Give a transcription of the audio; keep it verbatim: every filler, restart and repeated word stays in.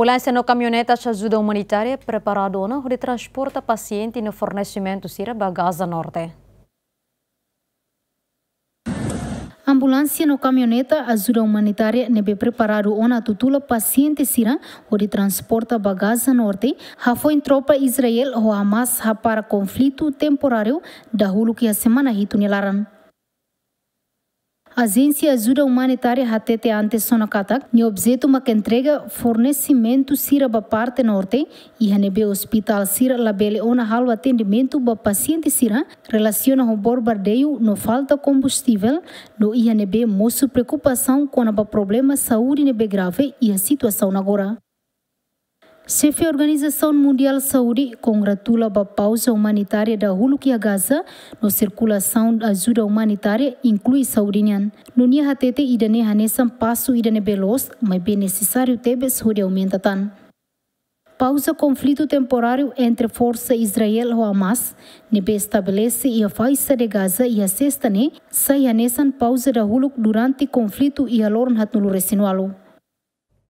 Ambulánsia no kamioneta ajuda umanitária preparadu ona hodi transporta pasiente no fornesimentu sira ba Gaza Norte. Ambulánsia no kamioneta ajuda umanitária ne'ebé preparadu ona atu tula pasiente sira hodi transporta ba Gaza Norte, hafoin tropa Israel ho Hamas hapara konflitu temporáriu dahuluk iha semana hitu nia laran. Ajénsia ajuda umanitária hatete antes ona katak nia objetu mak entrega fornesimentu sira ba parte norte, iha ne'ebé ospitál sira labele ona halo atendimentu ba pasiente sira, relasiona ho bombardeiu no falta kombustivel, no iha ne'ebé mosu preokupasaun kona-ba problema saúde ne'ebé grave iha situasaun agora. Xefe Organizasaun Mundiál Saúde kongratula ba pauza umanitária dahuluk iha Gaza, no sirkulasaun ajuda umanitária inklui saúde nian. No nia hatete ida-ne'e hanesan pasu ida ne'ebé loos, maibé nesesáriu tebes hodi aumenta tan. Pauza konflitu temporáriu entre forsa Israel ho Hamas, ne'ebé estabelese iha faixa de Gaza iha sesta ne'e, sai hanesan pauza dahuluk durante konflitu iha loron haatnulu resin ualu.